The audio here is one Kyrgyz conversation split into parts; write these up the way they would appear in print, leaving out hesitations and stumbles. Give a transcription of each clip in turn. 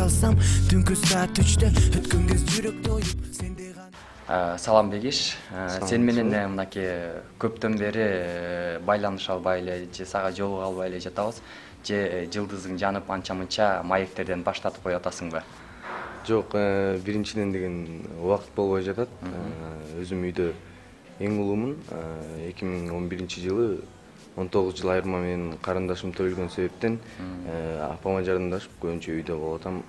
калсам түнкү саат 3-тө өткөн кез жүрөктө оюп сенде Салам Бегиш, сен менен мынакей көптөн бери байланыш албай эле же сага жолуга албай эле жатабыз. Же жылдызың жанып анча-мынча маектерден баштатып коюп атасыңбы? Жок, биринчиден деген убакыт болбой жатат. Өзүм үйдө эң улуумун. 2011-жылы 19 жыл айырма менен карындашым төрөлгөн себептен апама жардамдашып көбүнчө үйдө болуп атам.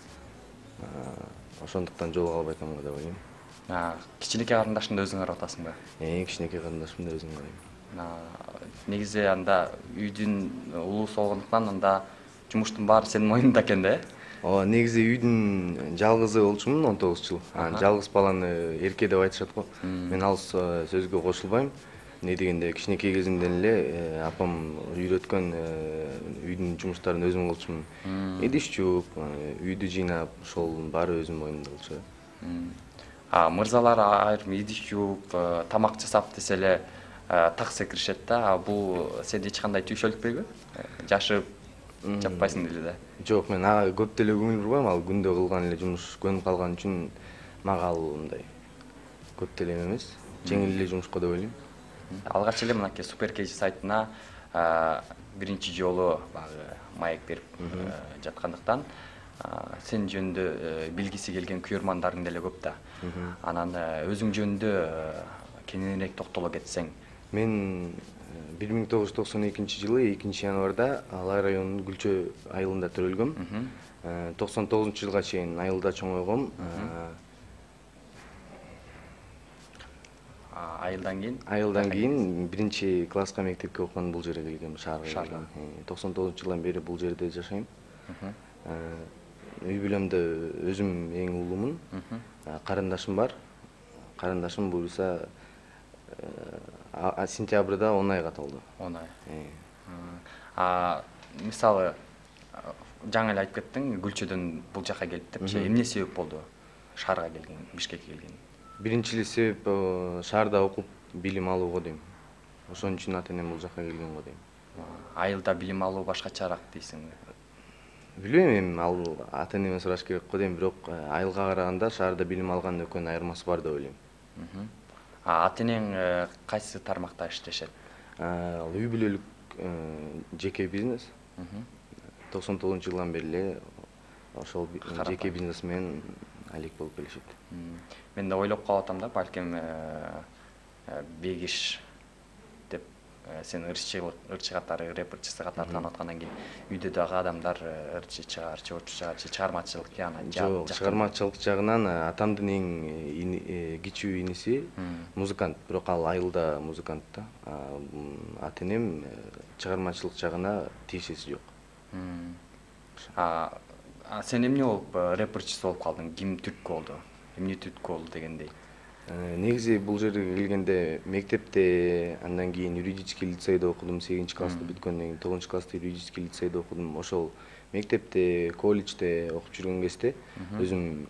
Ошондуктан жолуга албай атам деп ойлойм. Кичинекей карындашыңды өзүң карап атасыңбы? Кичинекей карындашымды өзүм карайм. Негизи анда үйдүн улуусу болгондуктан анда жумуштун баары сенин мойнуңда экен да, Ооба, негизи үйдүн жалгызы болчумун 19 жыл. Жалгыз баланы эрке деп айтышат го. Мен ал сөзгө кошулбайм. Эмне дегенде кичинекей кезимден эле апам үйрөткөн үйдүн жумуштарын өзүм кылчумун. Идиш жууп, үйдү жыйнап, ошол баары өзүмдүн моюнумда болчу. Мырзалар айрым идиш жууп, тамак жасап десе эле так секиришет да. Бул сени эч кандай түйшөлтпөйбү? Жашып жаппайсың деле да. Жок, мен ага көп деле көңүл бурбайм. Ал күндө кылган эле жумуш көнүп калган үчүн мага ал мындай көп деле эмес. Жеңил эле жумуш го деп ойлойм. Алгач эле мынакей Суперкейджи сайтына биринчи жолу баягы маек берип жаткандыктан сен жөнүндө билгиси келген күйөрмандарың деле көп да. Анан өзүң жөнүндө кененирээк токтоло кетсең. Мен 1992-жылы 2-январда Алай районунун Гүлчө айылында төрөлгөм. 99-жылга чейин айылда чоңойгом. Айылдан кийин биринчи класска мектепке окуган бул жерге келгем, шаарга. 99-жылдан бери бул жерде жашайм. Үй бүлөмдө өзүм эң улуумун. Карындашым бар. Карындашым буюрса сентябрда 10 айга толду. 10 ай. Мисалы жаңы эле айтып кеттиң, Гүлчөдөн бул жака келип депчи. Эмне себеп болду шаарга келген, Бишкекке келген? Биринчи эле себеп шаарда окуп билим алууга дейм. Ошон үчүн ата-энем бул жака келген го дейм. Айылда билим алуу башкачараак дейсиңби? Билбейм, эми ал ата-энеме сураш керек го дейм, бирок айылга караганда шаарда билим алган экөөнүн айырмасы бар деп ойлойм. Ата-энең кайсы тармакта иштешет? Ал үй бүлөлүк жеке бизнес. 99-жылдан бери эле ошол жеке бизнес менен алек болуп келишет. Мен да ойлоп калып атам да, балким Бегиш деп сен ырчы катары, рэперчиси катары таанып аткандан кийин үйдө дагы адамдар ырчы чыгар, же чыгармачылык жагынан. Жок, чыгармачылык жагынан атамдын эң кичүү иниси музыкант, бирок ал айылда музыкант да. Ата-энем чыгармачылык жагына тиешеси жок. Сен эмне болуп рэперчиси болуп калдың? Ким түрткү болду? Эмне түрткү болду дегендей? Негизи бул жерге келгенде мектепте, андан кийин юридический лицейде окудум, 8-классты бүткөндөн кийин 9-класста юридический лицейде окудум. Ошол мектепте, колледжде окуп жүргөн кезде өзүм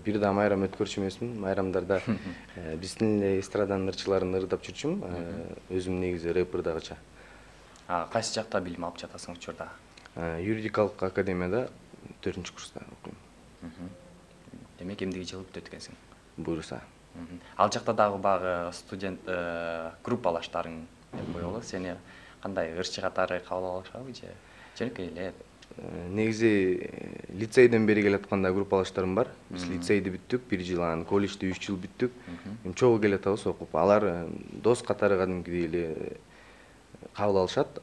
бир да майрам өткөрчү эмесмин. Майрамдарда биздин эле эстраданын ырчыларын ырдап жүрчүм. Өзүм негизи рэпер дагыча. Кайсы жакта билим алып жатасың учурда? Юридикалык академияда 4-курста окуйм. Демек эмдиги жылы бүтөт экенсиң? Буюрса. Ал жакта дагы багы студент группалаштарың деп коелу. Сени кандай ырчы катары кабыл алышабы же жөнөкөй эле? Негизи лицейден бери келатканда группалаштарым бар. Биз лицейди бүттүк, 1 жыл, анан колледжди 3 жыл бүттүк. Чогуу келатабыз окуп. Алар дос катары кадимкидей эле кабыл алышат.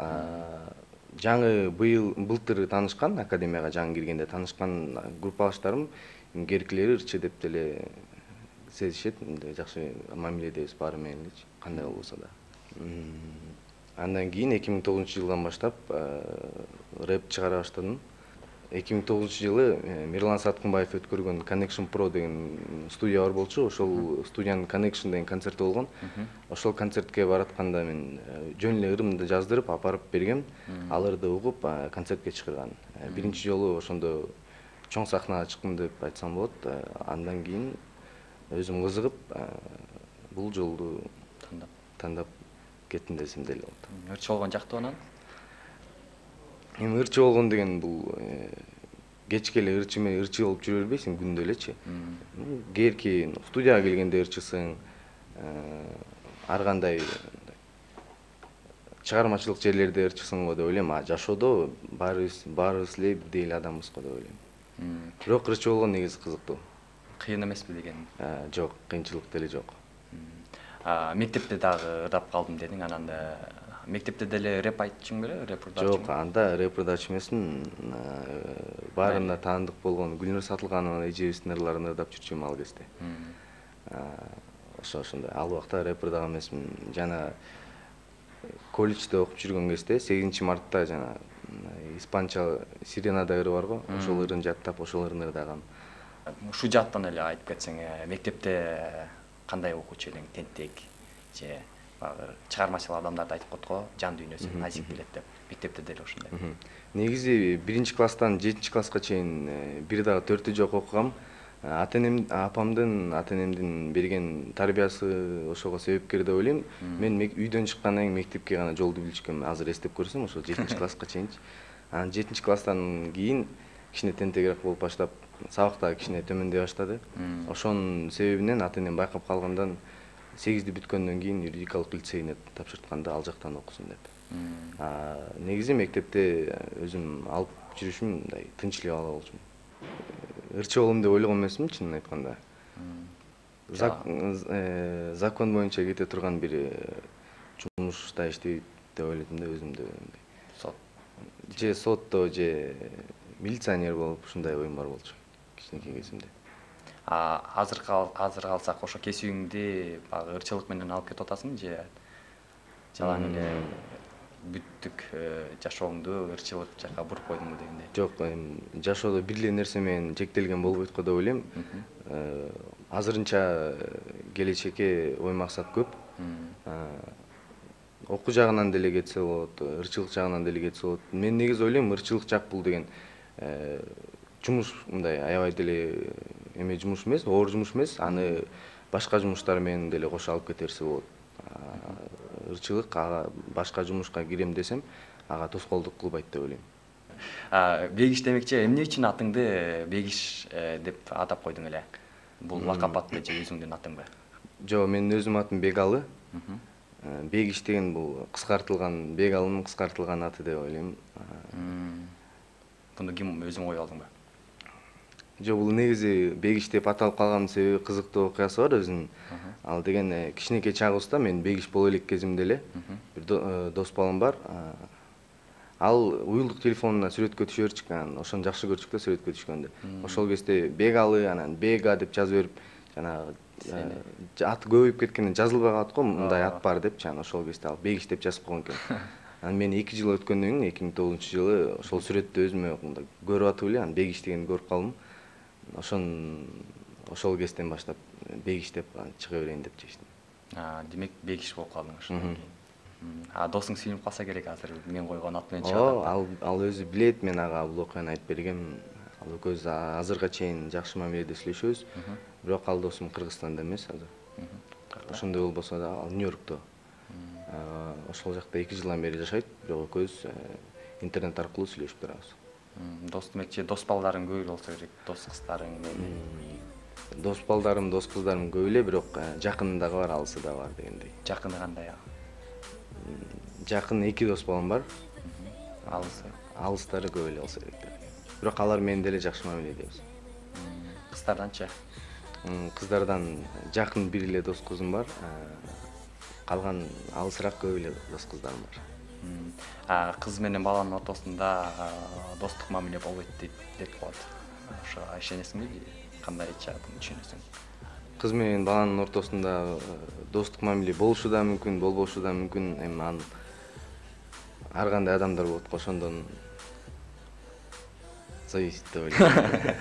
Жаңы былтыр таанышкан, академияга жаңы киргенде таанышкан группалаштарым керкилери ырчы деп деле сезишет. Жакшы мамиледебиз баары менен элечи, кандай болбосо да. Андан кийин 2009-жылдан баштап рэп чыгара баштадым. 2009-жылы Мирлан Саткынбаев өткөргөн Connection Pro деген студия бар болчу. Ошол студиянын Connection деген концерти болгон. Ошол концертке баратканда мен жөн эле ырымды жаздырып апарып бергем. Ал ырды угуп концертке чыгарган. Биринчи жолу ошондо чоң сахнага чыктым деп айтсам болот. Андан кийин өзүм кызыгып бул жолду тандап кеттим десем деле болот. Ырчы болгон жактуу анан? Эми ырчы болгон деген бул кечке эле ырчы болуп жүрө бербейсиң күндө элечи. Кээрки студияга келгенде ырчысың, ар кандай чыгармачылык жерлерде ырчысың го деп ойлойм. Жашоодо баарыбыз эле бирдей эле адамбыз го деп ойлойм. Бирок ырчы болгон негизи кызыктуу. Кыйын эмеспи деген? Жок, кыйынчылык деле жок. Мектепте дагы ырдап калдым дедиң, анан мектепте деле рэп айтчың беле, рэп ырдачың? Жок, анда рэп ырдачу эмесмин. Баарына таандык болгон Гүлнур Сатылганова эжебиздин ырларын ырдап жүрчүм ал кезде. Ошондой ал убакта рэп ырдаган эмесмин. Жана колледжде окуп жүргөн кезде 8-мартта жана испанча сиренада ыры бар го, ошол ырын жаттап, ошол ырын ырдагам. Ушу жаттан эле айтып кетсең, мектепте кандай окуучу элең, тентек же чыгармачыл адамдарды айтып коет го, жан дүйнөсү назик билет деп. Мектепте деле ошондой. Негизи 1-класстан 7-класска чейин бир дагы 4 жок окугам. Ата-энемдин берген тарбиясы ошого себепкер деп ойлойм. Мен үйдөн чыккандан кийин мектепке гана жолду билишкем. Азыр эстеп көрсөм, ошо 7-класска чейинчи. Анан 7-класстан кийин кичине тентегирээк болуп баштап, сабак дагы кичине төмөндөй баштады. Ошонун себебинен ата-энем байкап калгандан 8-ди бүткөндөн кийин юридикалык лицейине тапшыртканда ал жактан окусун деп. Негизи мектепте өзүм алып жүрүшүм мындай тынч эле бала болчумун. Ырчы болом деп ойлогон эмесмин, чынын айтканда. Закон боюнча кете турган бир жумушта иштейт деп ойлодум да өзүмдү. Сот. Же сотто, же милиционер болуп ушундай оюм бар болчу кичинекей кезимде. Азыр калсак ошо кесибиңди баягы ырчылык менен алып кетип атасың же жалаң эле бүттүк жашооңду ырчылык жакка буруп койдуңбу дегендей? Жок, жашоодо бир эле нерсе менен чектелген болбойт го деп ойлойм. Азырынча келечекке ой максат көп. Окуу жагынан деле кетсе болот, ырчылык жагынан деле кетсе болот. Мен негизи ойлойм, ырчылык жак бул деген жумуш, мындай аябай деле жумуш эмес, оор жумуш эмес. Аны башка жумуштар менен деле кошо алып кетерсе болот. Ырчылык ага башка жумушка кирем десем, ага тоскоолдук кылбайт деп ойлойм. Бегиш демекчи, эмне үчүн атыңды Бегиш деп атап койдуң эле? Бул лакап атпы же өзүңдүн атыңбы? Жок, менин өзүмдүн атым Бегалы. Бегиш деген бул кыскартылган, Бегалынын кыскартылган аты деп ойлойм. Буну ким өзүң коюп алдыңбы? Жок, бул негизи Бегиш деп аталып калганын себеби кызыктуу окуясы бар өзүнүн. Ал деген кичинекей чагыбызда мен Бегиш боло элек кезимде эле бир дос балам бар. Ал уюлдук телефонуна сүрөткө түшөрчүк, анан ошону жакшы көрчүк да сүрөткө түшкөндө. Ошол кезде Бегалы, анан Бега деп жазып берип, жанагы аты көбөйүп кеткенден жазылбай калат го, мындай ат бар деп, жана ошол кезде ал Бегиш деп жазып койгон экен. Анан мен 2 жыл өткөндөн кийин 2009-жылы ошол сүрөттү өзүмө мындай көрүп атып эле, анан Бегиш дегенди көрүп калдым. Ошол кезден баштап Бегиш деп чыга берейин деп чечтим. Демек Бегиш болуп калдың ошондон кийин. Досуң сүйүнүп калса керек, азыр мен койгон ат менен чыгат. Ал өзү билет, мен ага бул окуяны айтып бергем. Ал экөөбүз азырга чейин жакшы мамиледе сүйлөшөбүз. Бирок ал досум Кыргызстанда эмес азыр. Ошондой болбосо да ал Нью-Йоркто. Ошол жакта 2 жылдан бери жашайт, бирок экөөбүз интернет аркылуу сүйлөшүп турабыз. Дос демекчи, дос балдарың көп болсо керек, дос кыздарың. Дос балдарым, дос кыздарым көп эле, бирок жакыны дагы бар, алысы да бар дегендей. Жакыны кандай? Жакын 2 дос балам бар. Алыстары көп эле болсо керек. Бирок алар менен деле жакшы мамиледебиз. Кыздарданчы? Кыздардан жакын бир эле дос кызым бар. Калган алысыраак көп эле дос кыздарым бар. Кыз менен баланын ортосунда достук мамиле болбойт деп коет. Ошо ишенесиңби? Кандайча буну түшүнөсүң? Кыз менен баланын ортосунда достук мамиле болушу да мүмкүн, болбошу да мүмкүн. Эми аны ар кандай адамдар болот го, ошондон зависит деп ойлойм.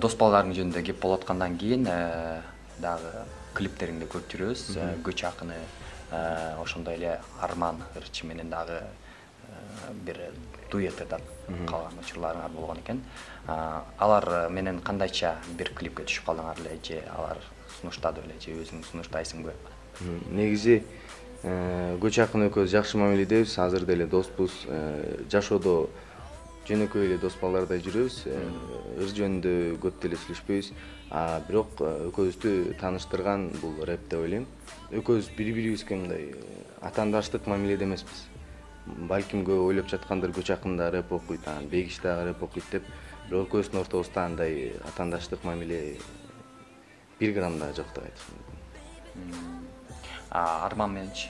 Дос балдарың жөнүндө кеп болуп аткандан кийин дагы клиптериңди көрүп жүрөбүз. Көч акыны, ошондой эле Арман ырчы менен дагы бир дуэт ырдап калган учурларыңар болгон экен. Алар менен кандайча бир клипке түшүп калдыңар эле же алар сунуштады беле же өзүң сунуштайсыңбы? Негизи Көч акын экөөбүз жакшы мамиледебиз, азыр деле доспуз. Жашоодо жөнөкөй эле дос балдардай жүрөбүз. Ыр жөнүндө көп деле сүйлөшпөйбүз. Бирок экөөбүздү тааныштырган бул рэп деп ойлойм. Экөөбүз бири-бирибизге мындай атаандаштык мамиледе эмеспиз. Балким көп ойлоп жаткандыр, көч акында рэп окуйт, Бегиш дагы рэп окуйт деп. Бирок экөөбүздүн ортобузда андай атаандаштык мамиле 1 грамм да жок деп айтыш мүмкүн. Арман мененчи?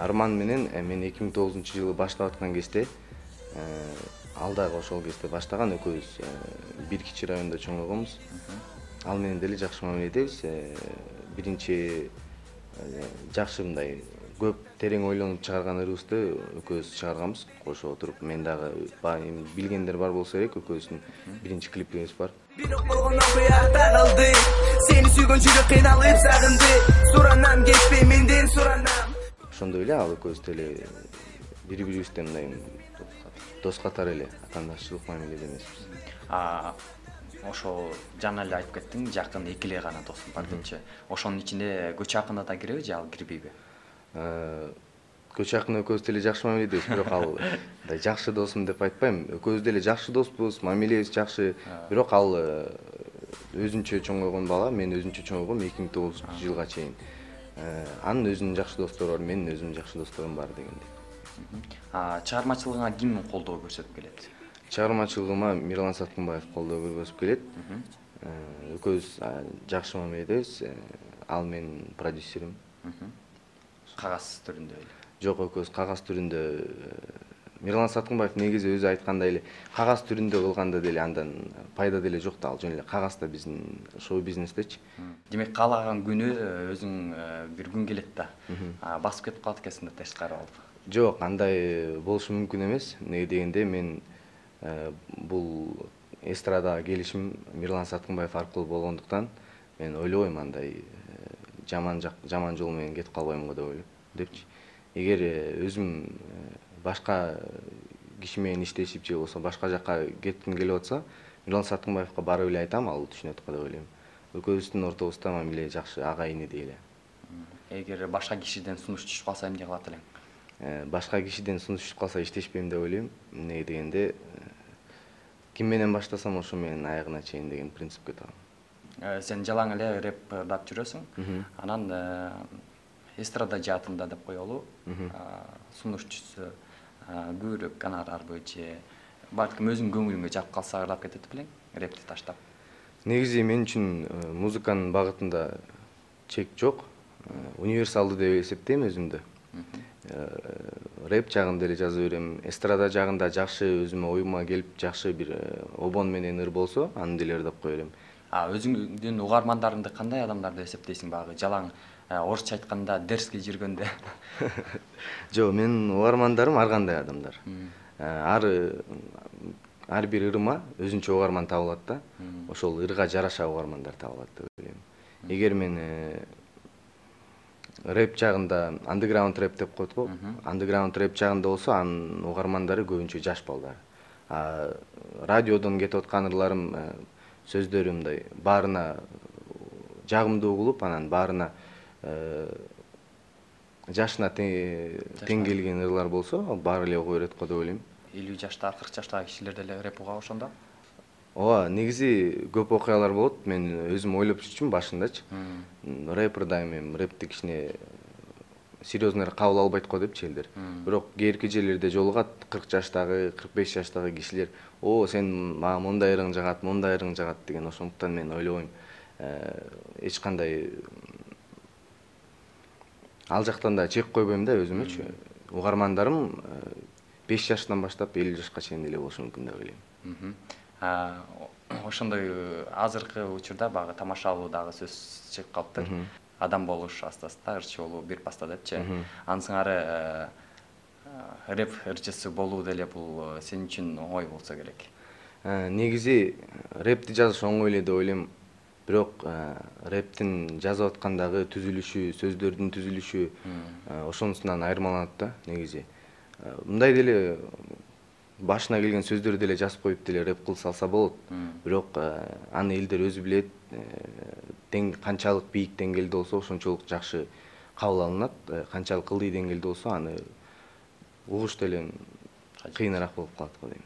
Арман менен мен 2009-жылы баштап аткан кезде ал дагы ошол кезде баштаган, экөөбүз бир кичи райондо чоңойгонбуз. Ал менен деле жакшы мамиледебиз. Биринчи жакшы мындай көп терең ойлонуп чыгарган ырыбызды экөөбүз чыгарганбыз. Кошо отуруп мен дагы билгендер бар болсо керек, экөөбүздүн биринчи клипибиз бар. Бирок болгон окуя тагылды. Сени сүйгөн жүрөк кыйналып сагынды. Суранам кетпей менден суранам. Ошондой эле ал экөөбүз деле бири-бирибизде мындай дос катары эле атаандаштылык мамиледе эмеспиз. Ошол жана эле айтып кеттиң, жакын 2 эле гана досум бар депчи. Ошонун ичинде көч акында да киреби же ал кирбейби? Көч акын экөөбүз деле жакшы мамиледебиз, бирок ал мындай жакшы досум деп айтпайм. Экөөбүз деле жакшы доспуз, мамилебиз жакшы. Бирок ал өзүнчө чоңойгон бала, мен өзүнчө чоңойгом 2009-жылга чейин. Анын өзүнүн жакшы достору бар, менин өзүмдүн жакшы досторум бар дегендей. Чыгармачылыгыңа ким колдоо көрсөтүп келет? Чыгармачылыгыма Мирлан Саткынбаев колдоо көрсөтүп келет. Экөөбүз жакшы мамиледебиз. Ал менин продюсерим. Кагаз түрүндө эле? Жок, экөөбүз кагаз түрүндө. Мирлан Саткынбаев негизи өзү айткандай эле кагаз түрүндө кылганда деле андан пайда деле жок да, ал жөн эле кагазда биздин шоу бизнестечи. Демек каалаган күнү өзүң бир күн келет да. Басып кетип калат экенсиң да тескари болуп. Жок, андай болушу мүмкүн эмес. Эмнеге дегенде мен бул эстрадага келишим Мирлан Саткынбаев аркылуу болгондуктан мен ойлобойм андай жаман жол менен кетип калбайм го деп ойлойм депчи. Эгер өзүм башка киши менен иштешип же болбосо башка жакка кетким келип атса, Мирлан Саткынбаевга барып эле айтам, ал түшүнөт го деп ойлойм. Экөөбүздүн ортобузда мамиле жакшы, ага инидей эле. Эгер башка кишиден сунуш түшүп калса эмне кылат элең? Башка кишиден сунуш түшүп калса иштешпейм деп ойлойм. Эмнеге дегенде ким менен баштасам ошо менен аягына чейин деген принципке табам. Сен жалаң эле рэп жүрөсүң. Анан эстрада жаатында деп коелу. Сунуш түшсө көбүрөөк гонорарбы же балким өзүң көңүлүңө жап калса ырдап кетет белең рэпти таштап? Негизи мен үчүн музыканын багытында чек жок. Универсалдуу деп эсептейм өзүмдү. Рэп жагында эле жаза берем. Эстрада жагында жакшы өзүмө оюма келип жакшы бир обон менен ыр болсо, аны деле ырдап кое берем. Өзүңдүн угармандарыңды кандай адамдарды эсептейсиң багы? Жалаң орусча айтканда дерзкий жүргөндө? Жок, менин угармандарым ар кандай адамдар. Ар бир ырыма өзүнчө угарман табылат да. Ошол ырга жараша угармандар табылат деп ойлойм. Эгер мен рэп жагында андеграунд рэп деп коет го. Андеграунд рэп жагында болсо, анын угармандары көбүнчө жаш балдар. Радиодон кетип аткан ырларым, сөздөрү мындай баарына жагымдуу угулуп, анан баарына жашына тең келген ырлар болсо, баары эле уга берет го деп ойлойм. 50 жаштагы, 40 жаштагы кишилер деле рэп угабы ошондо? Ооба, негизи көп окуялар болот. Мен өзүм ойлоп жүрчүмүн башындачы. Рэпер да эми рэпти кичине серьезно кабыл албайт го депчи элдер. Бирок кээрки жерлерде жолугат 40 жаштагы, 45 жаштагы кишилер, сен мага мындай ырың жагат, мындай ырың жагат деген. Ошондуктан мен ойлобойм эч кандай ал жактан да чек койбойм да өзүмөчү. Угармандарым 5 жаштан баштап 50 жашка чейин деле болушу мүмкүн деп ойлойм. Ошондой азыркы учурда багы тамашалуу дагы сөз чыгып калыптыр. Адам болуш аста-аста, ырчы болуу бир баста депчи. Анын сыңары рэп ырчысы болуу деле бул сен үчүн оңой болсо керек. Негизи рэпти жазыш оңой эле деп ойлойм. Бирок рэптин жазып аткандагы түзүлүшү, сөздөрдүн түзүлүшү ошонусунан айырмаланат да негизи. Мындай деле башына келген сөздөрдү деле жазып коюп деле рэп кылса алса болот. Бирок аны элдер өзү билет. Канчалык бийик деңгээлде болсо ошончолук жакшы кабыл алынат. Канчалык ылдый деңгээлде болсо аны угуш деле кыйыныраак болуп калат го дейм.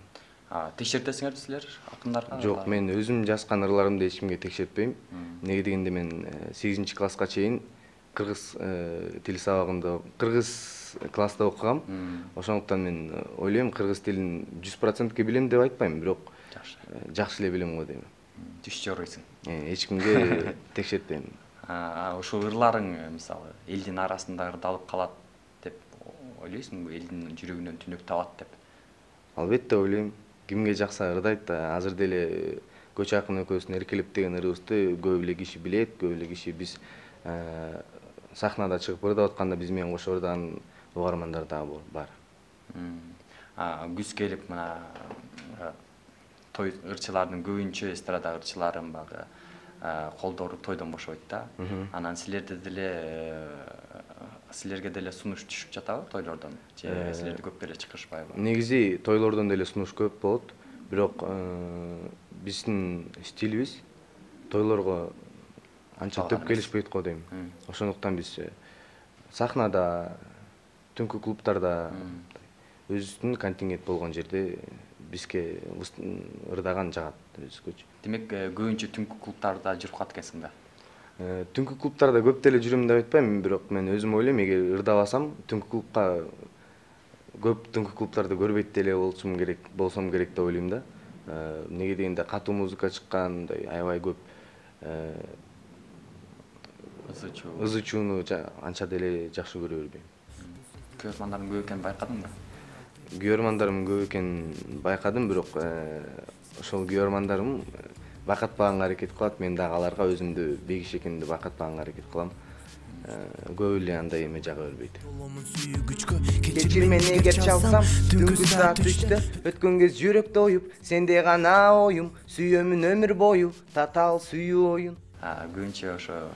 Текшертесиңерби силер акындарга? Жок, мен өзүм жазган ырларымды эч кимге текшертпейм. Неге дегенде мен 8-класска чейин кыргыз тили сабагында кыргыз класста окугам. Ошондуктан мен ойлойм кыргыз тилин 100% билем деп айтпайм, бирок жакшы эле билем го дейм. Түш жоройсуң. Эч кимге текшертпейм. Ошол ырларың мисалы элдин арасында ырдалып калат деп ойлойсуңбу? Элдин жүрөгүнөн түнөк табат деп? Албетте ойлойм. Кимге жакса ырдайт. Азыр деле Көч Акын экөөбүздүн Эркелеп деген ырыбызды көп эле киши билет, көп эле киши биз сахнада чыгып ырдап атканда биз менен кошо ырдаган угармандар дагы бар. Күз келип мына той ырчылардын көбүнчө эстрада ырчыларын багы колдору тойдон бошобойт да. Анан силерге деле сунуш түшүп жатабы тойлордон? Же силерди көп деле чакырышпайбы? Негизи тойлордон деле сунуш көп болот, бирок биздин стилибиз тойлорго анча төп келишпейт го дейм. Ошондуктан биз сахнада, түнкү клубтарда өзүбүздүн контингент болгон жерде бизге ырдаган жагат өзгөчө. Демек, көбүнчө түнкү клубтарда жүрүп калат экенсиң да? Түнкү клубтарда көп деле жүрөм деп айтпайм, бирок мен өзүм ойлойм, эгер ырдабасам, көп түнкү клубтарды көрбөйт деле болсом керек деп ойлойм да. Неге дегенде катуу музыка чыккандай аябай көп ызы чууну анча деле жакшы көрө бербейм. Көрөрмандардын көп экенин байкадыңбы? Көрөрмандарым көп экенин байкадым, бирок ошол көрөрмандарым байкатпаганга аракет кылат. Мен дагы аларга өзүмдү бейгиш экенимди байкатпаганга аракет кылам. Көп эле андай эме жага бербейт. Кечир мени эгер чалсам, түнкү саат 3-тө өткөн кез жүрөктө оюп, сенде гана оюм, сүйөмүн өмүр бою, татаал сүйүү оюн. Көбүнчө ошо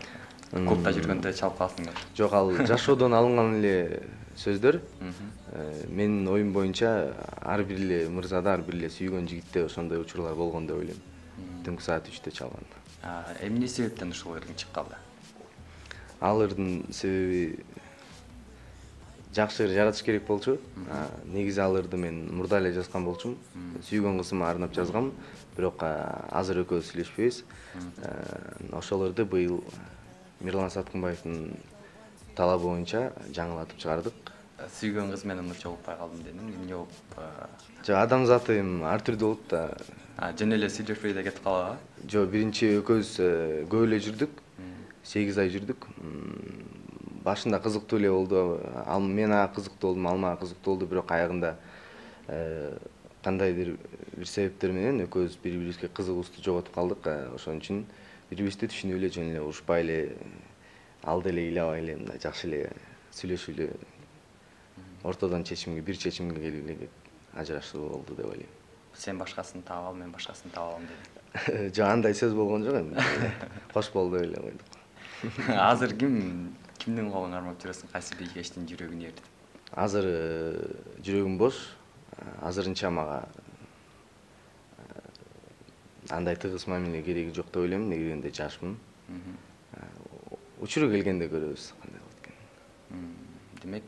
клубда жүргөндө чалып каласыңдар. Жок, ал жашоодон алынган эле сөздөр. Менин оюм боюнча ар бир эле мырзада, ар бир эле сүйгөн жигитте ошондой учурлар болгон деп ойлойм. Түнкү саат 3-тө чалган. Эмне себептен ушул ырың чыккалы? Ал ырдын себеби жакшы ыр жаратыш керек болчу. Негизи ал ырды мен мурда эле жазган болчумун. Сүйгөн кызыма арнап жазгам, бирок азыр экөөбүз сүйлөшпөйбүз. Ошол ырды быйыл Мирлан Саткынбаевдин талабы боюнча жаңылатып чыгардык. Сүйгөн кыз менен жолукпай калдым дедим. Эмне болуп? Жок, адам заты ар түрдүү болот да. Жөн эле сүйлөшпөй да кетип калабы? Жок, биринчи экөөбүз көп эле жүрдүк. 8 ай жүрдүк. Башында кызыктуу эле болду. Мен ага кызыктуу болдум, ал мага кызыктуу болду, бирок аягында кандайдыр бир себептер менен экөөбүз бири-бирибизге кызыгуубузду жоготуп калдык. Ошон үчүн бири-бирибизди түшүнүп эле жөн эле урушпай эле, алды эле ыйлабай эле мындай жакшы эле сүйлөшүп эле ортодон бир чечимге келип эле ажырашуу болду деп ойлойм. Сен башкасын таап ал, мен башкасын таап алам дедим. Жок, андай сөз болгон жок эми. Кош болду деп эле койдук. Азыр кимдин колун кармап жүрөсүң? Кайсы бийгештин жүрөгүн ээрдип? Азыр жүрөгүм бош. Азырынча мага андай тыгыз мамиле кереги жок деп ойлойм, неге дегенде жашмын. Учуру келгенде көрөбүз кандай болот экен. Демек,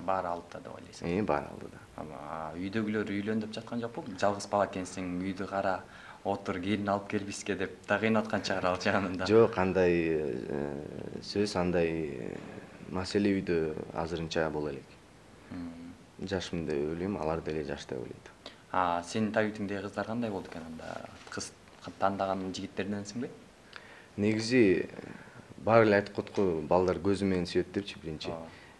баары алдыда деп ойлойсуң? Баары алдыда. Үйдөгүлөр үйлөн деп жаткан жокпу? Жалгыз бала экенсиң, үйдү кара, отур, келин алып келбиске деп да кыйнаткан чыгар ал жагында. Жок, андай сөз, андай маселе үйдө азырынча боло элек. Жашмын деп ойлойм, алар деле жаш деп ойлойт. Сенин табитиңдеги кыздар кандай болду экен анда? Кыз тандаган жигиттерденсиңби? Негизи баары эле айтып коет го, балдар көзү менен сүйөт депчи биринчи.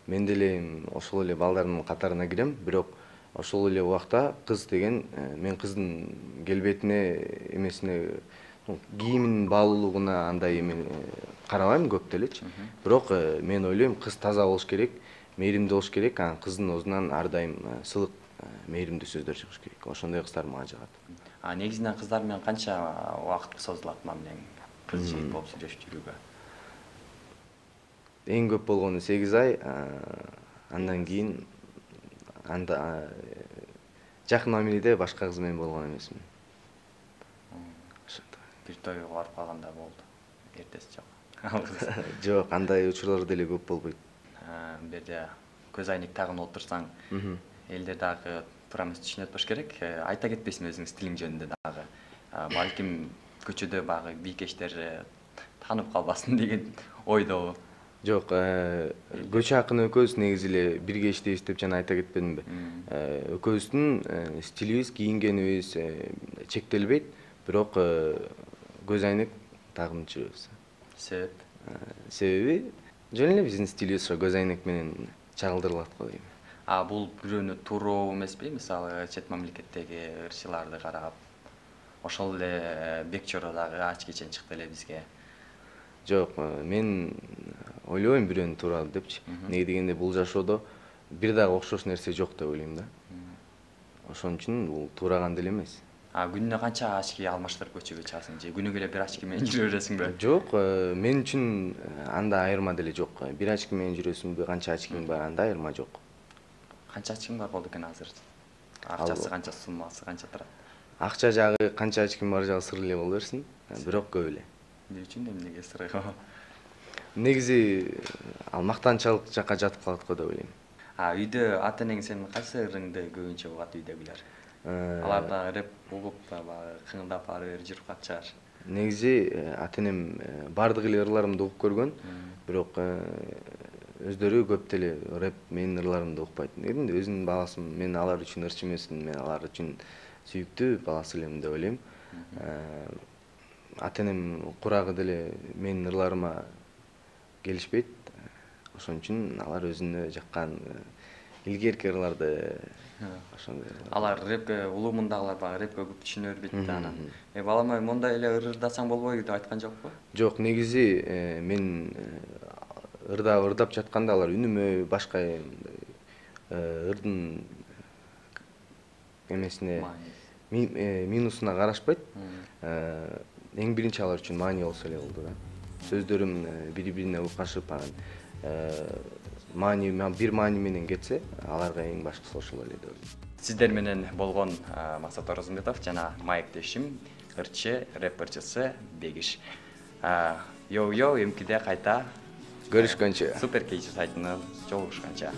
Мен деле ошол эле балдардын катарына кирем, бирок ошол эле убакта кыз деген мен кыздын келбетине, эмесине, кийиминин баалуулугуна андай эме карабайм көп делечи. Бирок мен ойлойм, кыз таза болуш керек, мээримдүү болуш керек, анан кыздын оозунан ар дайым сылык, мээримдүү сөздөр чыгыш керек. Ошондой кыздар мага жагат. Негизинен кыздар менен канча убакыт созулат мамилең? Кыз жигит болуп сүйлөшүп жүрүүгө? Эң көп болгону 8 ай, андан кийин жакын мамиледе башка кыз менен болгон эмесмин. Бир тойго барып калганда болду. Эртеси жок. Жок, андай учурлар деле көп болбойт. Бир көз айнек тагып отурсаң, элдер дагы туура эмес түшүнүп атпаш керек. Айта кетпейсиңби өзүңүң стилиң жөнүндө дагы? Балким көчөдө баягы бийкештер таанып калбасын деген ойдобу? Жок, Көчө акын экөөбүз негизи эле бирге иштейбиз деп жана айта кетпедимби? Экөөбүздүн стилибиз, кийингенибиз чектелбейт, бирок көз айнек тагып жүрөбүз. Себеби жөн эле биздин стилибиз ошо көз айнек менен чагылдырылат го дейм. Бул бирөөнү тууроо эмеспи? Мисалы, чет мамлекеттеги ырчыларды карап, ошол эле Бек Чоро дагы ачкечен чыкты эле бизге. Жок, мен ойлобойм бирөөнү тууралуу депчи. Неге дегенде бул жашоодо бир дагы окшош нерсе жок деп ойлойм да. Ошон үчүн бул туураган деле эмес. Күнүнө канча очки алмаштырып көчөгө чыгасың же күнүгө эле бир очки менен жүрө бересиңби? Жок, мен үчүн анда айырма деле жок. Бир очки менен жүрөсүңбү, канча очкиң бар, анда айырма жок. Канча очкиң бар болду экен азыр? Акчасы канча, суммасы канча турат? Акча жагы канча очкиң бар жагы сыр эле боло берсин, бирок көп эле. Эмне үчүн, эмнеге сыр? Негизи ал мактанчалык жакка жатып калат го деп ойлойм. Үйдө ата-энең сенин кайсы ырыңды көбүнчө угат үйдөгүлөр? Алар да рэп угуп, баягы кыңдап ары бери жүрүп калчаар. Негизи ата-энем бардык эле ырларымды угуп көргөн, бирок өздөрү көп деле рэп менин ырларымды укпайт. Негизинде өзүнүн баласымын, мен алар үчүн ырчы эмесмин, мен алар үчүн сүйүктүү баласы элем деп ойлойм. Ата-энем курагы деле менин ырларыма келишпейт. Ошон үчүн алар өзүнө жаккан илгерки ырларды ошондой. Алар рэпке улуумундагылар баягы рэпке көп түшүнө бербейт да анан. Балам ай, мондай эле ырдасаң болбойбу деп айткан жокпу? Жок, негизи мен ырдап жатканда алар үнүмө башка ырдын эмесине минусуна карашпайт. Эң биринчи алар үчүн маани болсо эле болду да. Сөздөрүм бири-бирине укашып, бир маани менен кетсе, аларга эң башкысы ошол эле деп ойлойм. Сиздер менен болгон Максат Оразымбетов жана маектешим ырчы, рэп ырчысы Бегиш. Йо, эмкиде кайта көрүшкөнчө. Супер Кейчи сайтынан жолугушканча.